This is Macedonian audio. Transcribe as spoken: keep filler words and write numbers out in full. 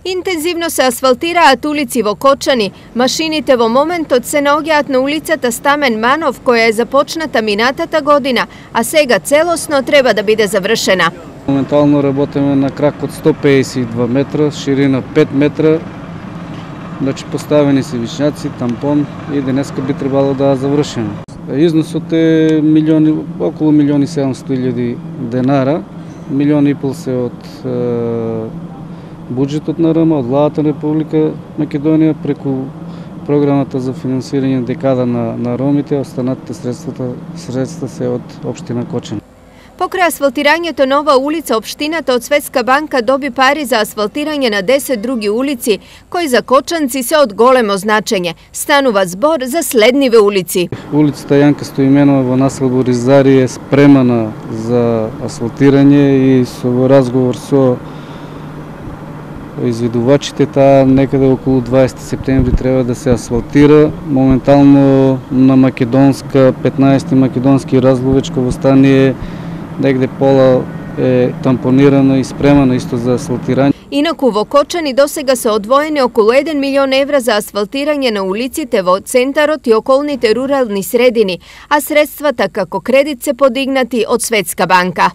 Интензивно се асфалтираат улици во Кочани. Машините во моментот се наоѓаат на улицата Стамен Манов, која е започната минатата година, а сега целосно треба да биде завршена. Моментално работиме на крак од сто пеесет и два метра, ширина пет метра. Значи поставени се вишњаци, тампон и денеска би требало да завршиме. Износот е милиони, околу милиони и седумстотини илјади денара. Милиони и пол се од е, буџетот на РМ, од владата на Република Македонија, преку програмата за финансирање декада на, на ромите, останатите средствата, средства се од општина Кочани. Покрај асфалтирањето на ова улица, општината од Светска банка доби пари за асфалтирање на десет други улици, кои за кочанци се од големо значење. Станува збор за следниве улици. Улицата Јанка Стоименова во насел Боризари е спремана за асфалтирање и со разговор со извидувачите, таа некаде околу дваесети септември треба да се асфалтира. Моментално на Македонска, петнаесети Македонски Разловечко восстание, негде пола е тампонирано и спремано исто за асфалтирање. Инаку во Кочани досега се одвоени околу еден милион евра за асфалтирање на улиците во центарот и околните рурални средини, а средствата како кредит се подигнати од Светска банка.